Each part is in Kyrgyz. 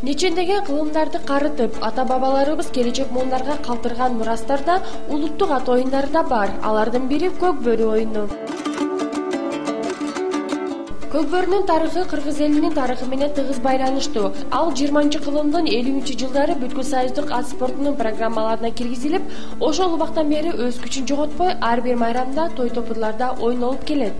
Нечендеген кылымдарды карытып, ата-бабаларыбыз келечек муундарга калтырган мурастарда улуттук ат оюндары да бар. Алардын бири көк бөрү оюну. Көк бөрүнүн тарыхы кыргыз элинин тарыхы менен тыгыз байланыштуу. Ал 20-кылымдын 50-жылдары бүткүл союздук ат спортунун программаларына киргизилип, ошол убактан бери өз күчүн жоготпой, ар бир майрамда, той-топурларда ойнолуп келет.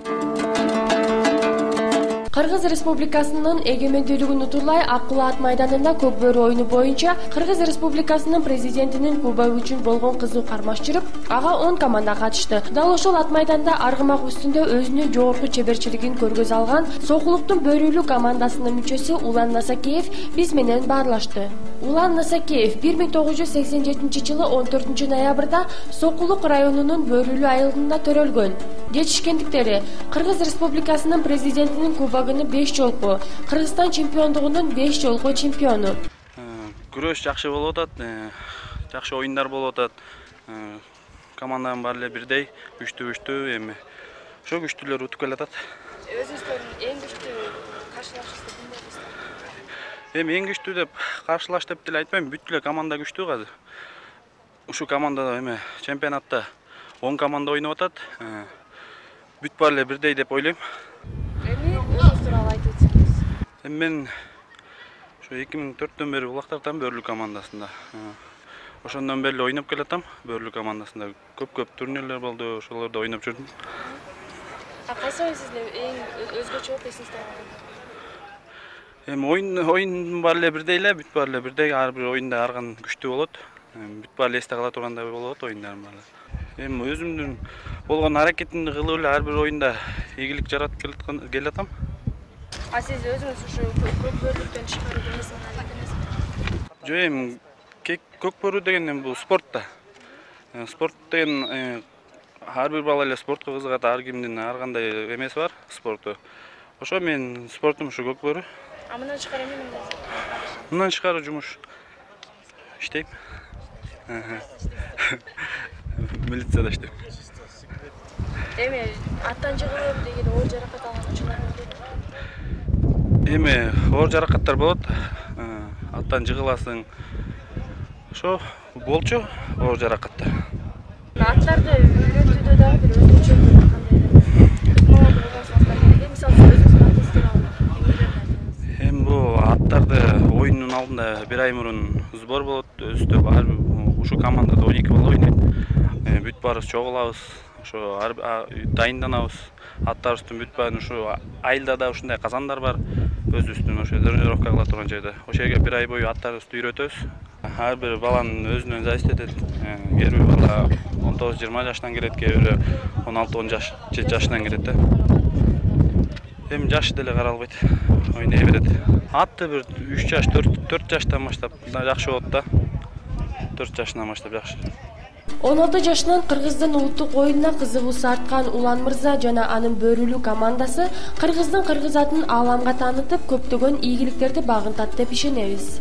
Кыргыз Республикасынын эгемендүүлүгүн утурлай Аккула ат майданында көк бөрү оюну боюнча Кыргыз Республикасынын президентинин кубогу үчүн болгон кызуу кармаш жүрүп, ага 10 команда катышты. Дал ошол ат майданда аргымак үстүндө өзүнүн жогорку чеберчилигин көргөзө алган Сокулуктун бөрүлүү командасынын мүчөсү Улан Насакеев биз менен баарлашты. Улан Насакеев 1987-жылы 14 ноябрда Сокулук районунун Бөрүлүү айылында төрөлгөн. Жетишкендиктери Кыргыз Республикасынын президентинин кубогунун 5 жолку, Кыргызстан чемпиондугунун 5 жолку чемпиону. Күрөш жакшы болуп атат, жакшы оюндар болуп атат. Команданын баары эле бирдей, күчтүү, эми ошо күчтүүлөр утуп келатат. Өзүңүздөрдүн эң күчтүү каршылашыңызды ким деп эсептейсиз? Эми эң күчтүү деп каршылаш деп деле айтпайм, бүт эле команда күчтүү азыр. Ушу командада эми чемпионатта 10 команда ойноп атат. Бүт баары эле бирдей деп ойлойм. Эми өзүңүз тууралуу айтып өтсөңүз. Эми мен ошо 2004-төн бери Булактартан Бөрүлүү командасында. Ошондон бери ойноп келатам Бөрүлүү командасында. Көп турнирлер болду, ошолордо ойноп жүрдүм. Кайсы оюн сизге эң өзгөчө болуп эсиңизде калган? Эми оюн баары эле бирдей эле, бүт баары эле бирдей, ар бир оюнда арган күчтүү болот. Бүт баары эле эсте кала тургандай болот оюндардын баары. Эми өзүмдүн болгон аракетимди кылып эле ар бир оюнда ийгилик жаратып келатам. Сиз өзүңүз ушу көк бөрүлүктөн тышкары эмесин алып Жок, эми көк бөрү деген бул спорт да. Спорт деген ар бир бала эле спортко кызыгат, ар кимдин ар кандай эмеси бар спорту. Ошо менин спортум ушу көк бөрү. Мындан тышкары эмне менен? Мындан тышкары жумуш иштейм. Милицияда иштейм. Эми аттан жыгылып деген оор жаракат алган учурлар болду. Эми оор жаракаттар болот. Аттан жыгыласың. Ошо болчу оор жаракаттар. Аттарды үйрөтүүдө дагы бир өзгөчө кандай мисалы өзүңүздүн атыңызды алып. Эми бул аттарды оюндун алдында бир ай мурун сбор болот. Өзүбүздө ушу командада 12 бала ойнойт. Бүт баарыбыз чогулабыз. Ошо дайынданабыз. Аттарыбыздын бүт баарын ушу айылда да ушундай казандар бар. Өзүбүздүн ошо тренировка кыла турган жайда. Ошол жерге бир ай бою аттарыбызды үйрөтөбүз. Ар бир баланын өзүнөн зависит этет. Кээ бир бала 19-20 жаштан келет, кээ бири 16-17 жашынан келет да. Эми жашы деле каралбайт, ойной берет. Атты бир 3 жаш, 4 жаштан баштап жакшы болот да. 4 жашынан баштап жакшы. 16 жашынан Кыргыздын улуттук оюнуна кызыгуусу арткан Улан мырза жана анын Бөрүлүү командасы кыргыздын кыргыз атын ааламга таанытып, көптөгөн ийгиликтерди багынтат деп ишенебиз.